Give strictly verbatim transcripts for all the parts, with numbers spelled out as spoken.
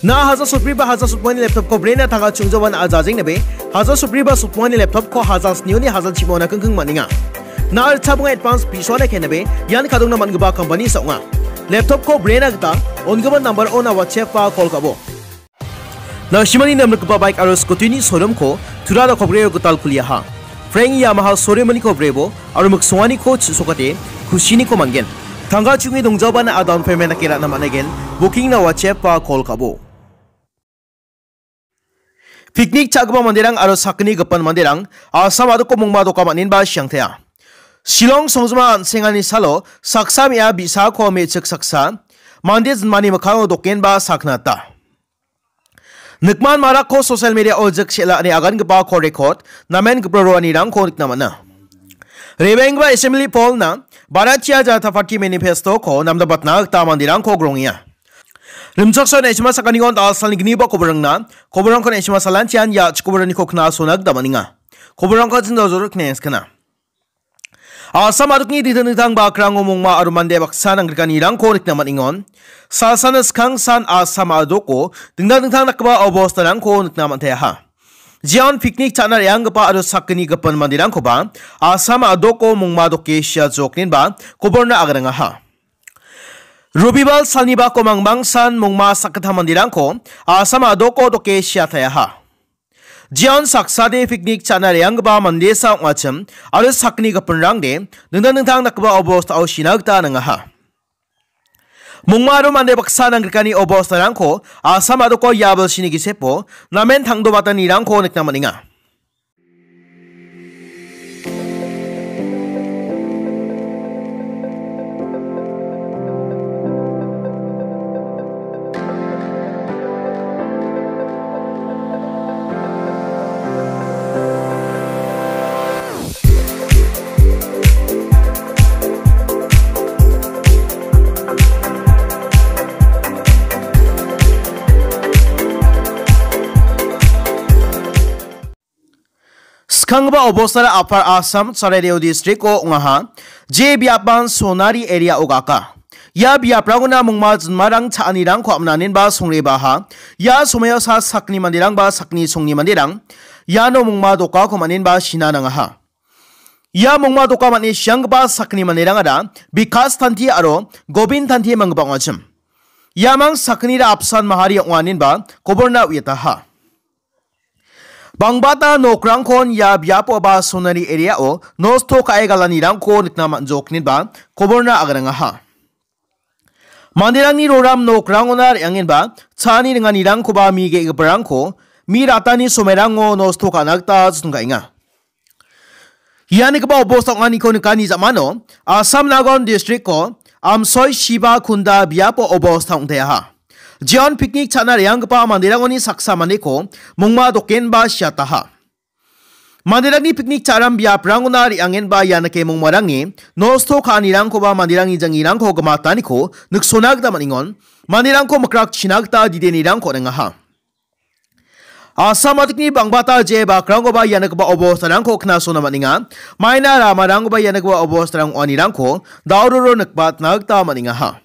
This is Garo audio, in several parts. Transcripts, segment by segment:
Na haja sotbri ba haja sotmani laptop ko brena tanga chungjawan a jajeng nebe, haja sotbri ba sotmani laptop ko haja snioni haja chimona kengkeng maninga. Na archa bunga advance piso na kenebe, yan kadong na man geba company sa onga. Laptop ko brena gita, on geba number on a WhatsApp pa call kabo. Na shimani nam geba bike aro scooty ni showroom ko, tura da kobreo gital kuliaha. Frank Yamaha showroom ni kobrebo, aro miksongani ko chisokate, kushini ko mangen. Tanga chungi dongjaban a down payment akira na manegen, booking na WhatsApp pa call kabo. Picnic cha·gipa manderang aro sakgni gipin manderang Assam a·doko mongma doka man·enba siangtea. Shillong songjima an·sengani salo saksa me·a bi·sako me·chik saksa mande jinmani mikkango dokenba sakna gita. Nikman marakko social media-o jik sela ine agangipa call record namen gipin roanirangko nikna man·a. Rebenggipa Assembly Paul-na Bharatiya Janata Party manifesto-ko namdabatna gita manderangko grongenga. Rimchaksoa na·sima sakaniko da·alsalni gniba koborangna, koborangko na·sima salantian ia chikoboraniko knasona gita man·enga. Koborangko jindal jorok knengskana. Assam a·dokni dingtang dingtang bakrango mongma aro mande baksa nangrikanirangko nikna man·engon. Salsana skangsan Assam a·doko dingtang dingtang dakgipa obostarangko nikna man·teaha. Jeon picnic cha·na re·anggipa aro sakgni gipin manderangkoba Assam a·doko mongma doke sia joknenba koborna agarangaha. Robibal salnibako mangbangsan mongma sakgittam manderangko Assam a·doko doke siataeaha. Jeon saksade picnic cha·na re·anggipa mandesa ong·achim aro sakgni gipinrangde dingtang dingtang dakgipa obostao sina gita nangaha. Mongma aro mande baksa nanggrikani obostarangko Assam a·doko ia bilsini gisepo namen tangdobatanirangko nikna man·enga. Skanggipa obostara Upper Assam, Charaideo district-o ong·aha. Je biapan Sonari area-o gaka. Ia biaprangona mongma jinmarang cha·anirangko amnanenba songrebaha. Ia somoiosa sakni manderangba sakni songni manderang iano mongma dokako man·enba sina nangaha. Ia mongma doka man·e sianggipa sakni manderangara Bikas Tanti aro Gobin Tanti manggipa ong·achim. Iamang saknira apsan mahari ong·anenba koborna uiataha. Bangbata nokrangkon ia biapo ba Sonari area-o nosto ka·e galanirangko nikna man·joknenba koborna agarangaha. Manderangni roram nokrangona re·angenba cha·ani ringanirangkoba mi ge·giparangko mi ratani somerango nosto ka·na gita jotongaenga. Ia nikgipa obosta ong·aniko nikani ja·mano Assam Nagaon district-ko Amsoi Shiba Kunda biapo obosta ong·teaha. Jeon picnic cha·na re·anggipa manderangoni saksa mandeko mongma dokenba siataha. Manderangni picnic cha·ram biaprangona re·angenba ia nike mongmarangni nosto ka·anirangkoba manderangni jangirangko gimataniko niksona gita man·engon. Manderangko mikrakchina gita didenirangko on·engaha. Assam a·dokni bangbata je bakrangkoba ia nikgipa obostarangko knasona man·enga. Maina ramarangkoba ia nikgipa obostarang ong·anirangko dauroro nikbatna gita man·engaha.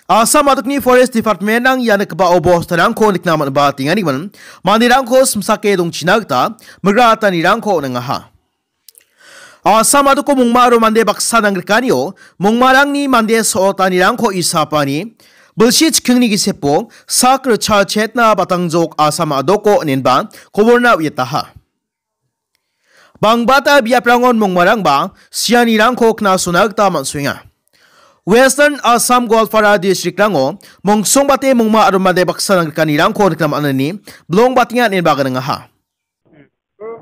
Assam a·dokni Forest Department-rang ia nikgipa obostarangko nikna man·ba tenganigimin manderangko simsake dongchina gita migra atanirangko on·engaha. Assam a·doko mongma aro mande baksa nangrikanio mongmarangni mande so·otanirangko isapani bilsi chikkingni gisepo sak richa chetna batangjok Assam a·doko inenba koborna uiataha. Bangbata biaprangon mongmarangba sianirangko knasona gita man·soenga. Western Assam Goalpara district-rango mongsongbate mongma aro mande baksa nangrikanirangko nikna man·ani bilongbatenga inenba gnangaha.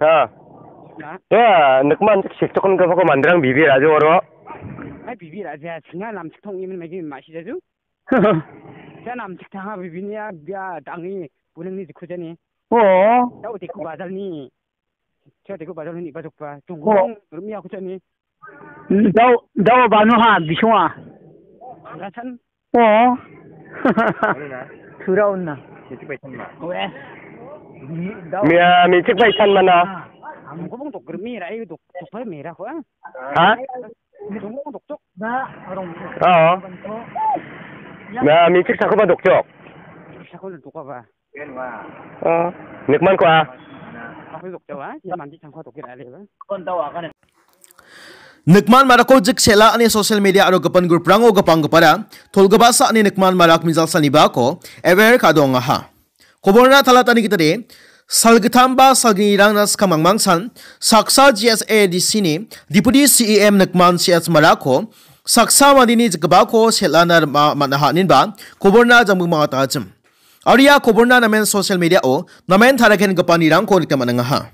Ha. Ha? Ya, nikman sikchokon gapako manderang bibi ra·jo oro. Ai, bibi ra·ja, sina namchik tong imin magi ma·si jaju. Sina namchik tanga bibini ya, bia dangi bunangni jikujani. Oh. Dao teku bazalni. Sia teku bazalni iba jokba. Oh. Tunggung rumia kujani. Dao, dao bano ha, bisonga. Anggasan. Oh. Ano na? Tura onna. Mechik bai san ma. Oe. Mia, mechik bai san mana? Ang ko bong dok germi rai dok, dok bai mera ko, ah. Ha? Dong bong dok dok. Oo. Na, mechik sakoba dokjok. Chakon dokaba. Ah, nikman ko a. Aku dokjawa, ya mandi changko dokir ale ba. Nikman marako jik sela ane social media aro gipin group rango gipang gipara, tolgipasa ane nikman marak mijal sanibako, ever kadongaha. Koborna talatani gitade, salgitamba salginirangna skam mangmangsan, saksa G S A D C ni Deputy C E M nikman C S marako, saksa mandini jikgipako selana rima man-, man-, aha ninba, koborna jangbu mangatachim. Aria koborna namen social media-o namen tarakengipanirangko nikna man·angaha.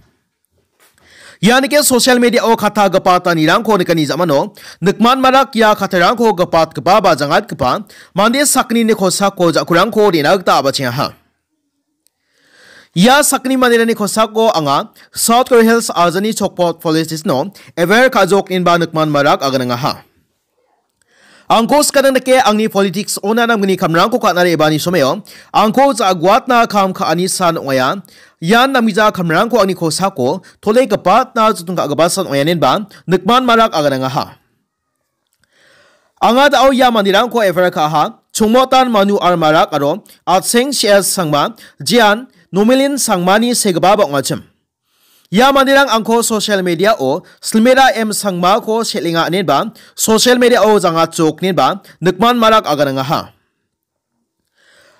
Ianike social media-o kata gipatanirangko nikani jamano, nikman marak ia katarangko gipatgipa ba jangatgipa mande sakgnini kosako jakurangko rina gita abachengaha. Ia sakgni manderangni kosako anga South Garo Hills ajani Chokpot Police Station-o ever kajok inba nikman marak aganangaha. Angko skadang dake angni politics ona namgni kamrangko ka·na re·bani someo, angko ja·guatna kam ka·ani san ong·aia. Ian namgija kamrangko angni kosako tole gipatna joton ka·gipa san ong·aia inenba nikman marak aganangaha. Anga da·o ia manderangko efer ka·aha, Chongmotan Manu R Marak aro Atseng C S Sangma, jean Nomelin Sangmani segipa ba ong·achim. Ia manderang angko social media-o Silmera M Sangmako selenga inenba, social media-o jangatjok inenba, nikman marak aganangaha.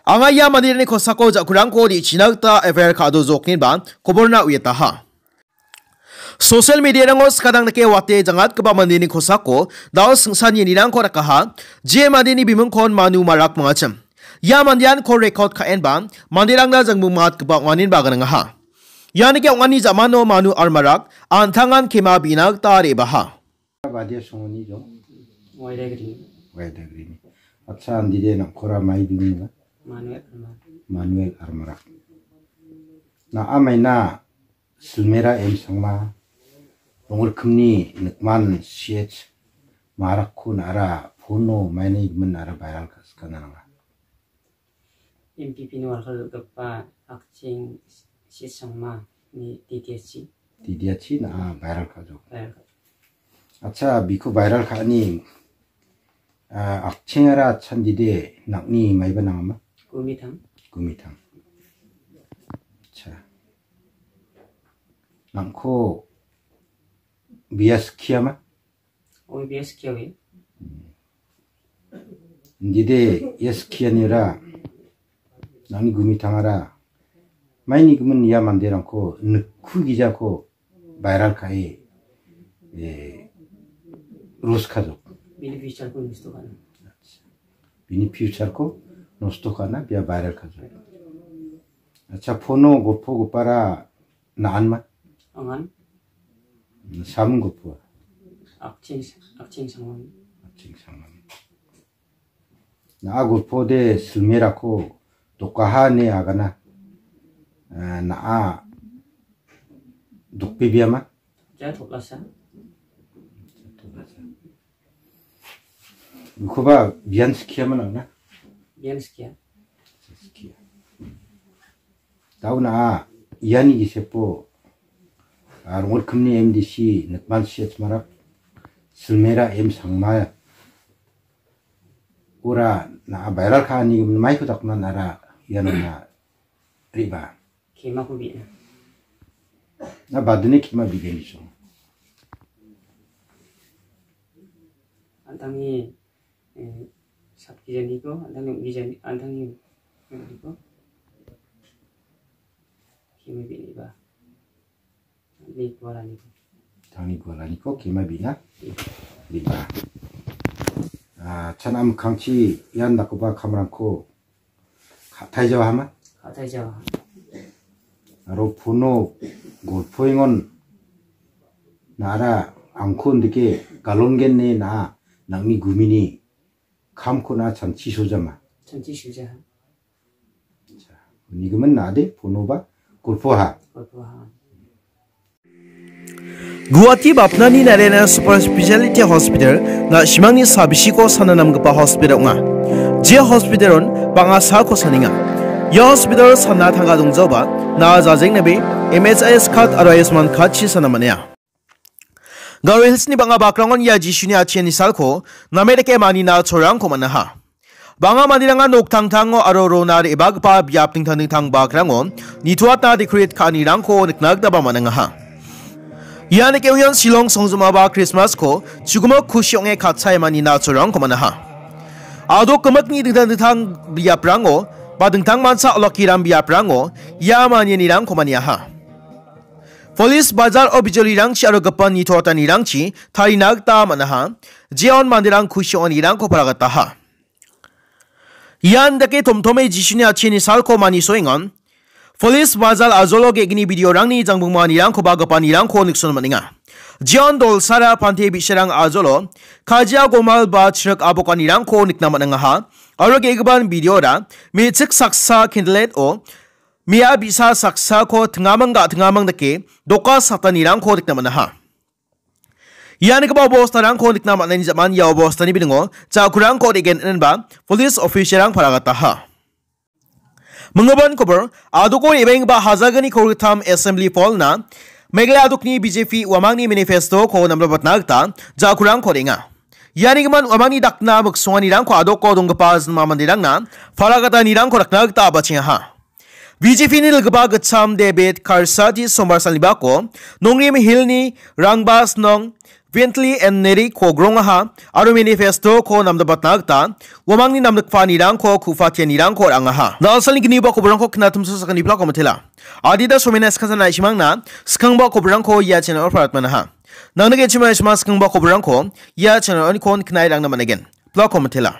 Anga ia manderangni kosako jakurangko re·china gita efer ka·dojok inenba, koborna uiataha. Social media-rango skadang dake wate jangatgipa mandeni kosako, da·o singsan yenirangko dakaha, je mandeni bimingkon Manu Marak mangachim. Ia mandean call record ka·enba, manderangna jangbu mangatgipa ong·aninba aganangaha. Ianike ong·ani jamano Manu R Marak, an·tangan kema bina gita re·baha. Badia songoni jong? Waidagrini. Waidagrini. Acha, andide nangkora mai duni ba? Manuel R Marak. Manuel R Marak. Na amaina Silmera M Sangma, rongorkimni nikman C H Marakko nara phono maini gimin nara viral ka·, skana nanga. M P P ni warkar dal·gipa Akching Sisangma ni D T S C. D T S C na viral ka·jok. Viral ka·jok. Acha, biko viral ka·ani, ah, Akchingara chandide nang·ni maiba nangama? Gumitang. Gumitang. Acha. Nangko bias kiama? Oi, bias kiawi. Indide ia skianira nangni gumitangara maini gimin ia manderangko nikku gijako viral ka·e, eh, roast ka·jok. Bini future-ko nosto ka·na. Bini future-ko nosto ka·na bia viral ka·jok. Acha, phono gopogipara na·anma? Angan. Samun gopua? Akching, Akching Sangman. Akching Sangman. Na·a gopode Silmerako dokaha ine agana. Eh, na·a dokbebiama? Ja, toklasa. Ukoba bian skiama nang·na? Bian skia. Skia. Dao na·a iani gisepo, ah, rongorkimni M D C nikman C H Marak, Silmera M Sangma, ora na·a viral ka·ani gimin maiko dakna nara iano na riba. Kemako bi·na. Na badini kema bi·gen biso. An·tangni, eh, sapkijaniko, an·tangni ong·gijani, an·tangni ong·gijako. Kema bi·niba. Ni gualaniko. Tangni gualaniko kema bi·na. Bi·na. Ah, chana mikkangchi ian dakgipa kamrangko ka·taijawa hama? Ka·taijawa. Aro phono golpoengon nara angko indike galongen ine na·a nang·ni gumini kamko na·a chanchi sojama? Chanchi sojaha. Unigimin na·ade phonoba golpoha. Golpoha. Guwahati Bapnani Narayana Super Speciality Hospital, na·simangni sabisiko sana namgipa hospital ong·a. Je hospitalon bang·a salko sanenga. Ia hospital sana tangka dongjaoba, na·a jajengnabe M H I S card aro Ayushman card-chi sana man·enga. Garo Hills-ni bang·a bakrangon ia Jisuni atchiani salko name dake manina cholrangko man·aha. Bang·a manderangan noktangtango aro rona re·bagipa biap dingtang dingtang bakrango nitoatna decorate ka·anirangko nikna gitaba man·angaha. Ia nikenggipan Shillong songjinmaba Christmas-ko chugimo kusi ong·e katchae manina cholrangko man·aha. Adok gimikni dingtang dingtang biaprango ba dingtang mancha olakkiram biaprango ia manianirangko maniaha. Police bazar-o bijolirangchi aro gipin nitoatanirangchi tarina gita man·aha. Jeon manderang kusi ong·anirangko paragataha. Ian dake tomtome Jisuni atchini salko manisoengan. Police bazar ajolo ge·gni bidiorangni jangbingmanirangkoba gipanirangko nikson man·enga. Jeon dolsara pante bi·sarang ajolo kajia gomal ba chrik abokanirangko nikna man·engaha. Aro ge·gipan bidiora me·chik saksa candlelight-o mia bi·sa saksako tingamang ga·tingamang dake doka satanirangko nikna man·aha. Ianigipa bostarangko nikna man·ani jaman ia bostani bilingo jakurangko re·gen inenba police officer-rang paragataha. Minggipan kobor, adoko re·baenggipa Hajalgni kolgittam Assembly Hall-na Meghalaya adokni B J P uamangni manifesto-ko namdabatna gita jakurangko re·enga. Ianigimin uamangni dakna miksonganirangko adoko donggipa jinma manderangna paragatanirangko dakna gita abachengaha. B J P-ni dilgipa gitcham David Karsati Sombar salnibako Nongrim Hill-ni Rangbas Nong Bentley and Neri-ko grongaha aro manifesto-ko namdabatna gita uamangni namdikpanirangko ku·patianirangko ra·angaha. Dalsalni gniba koborangko knatimsa sakani plako mitela. Adita somena skasana isimangna skangba koborangko ia channel-o paratmanaha. Nangni gechima isima skangba koborangko ia channel-oni kon knai rangna manegen. Plako mitela.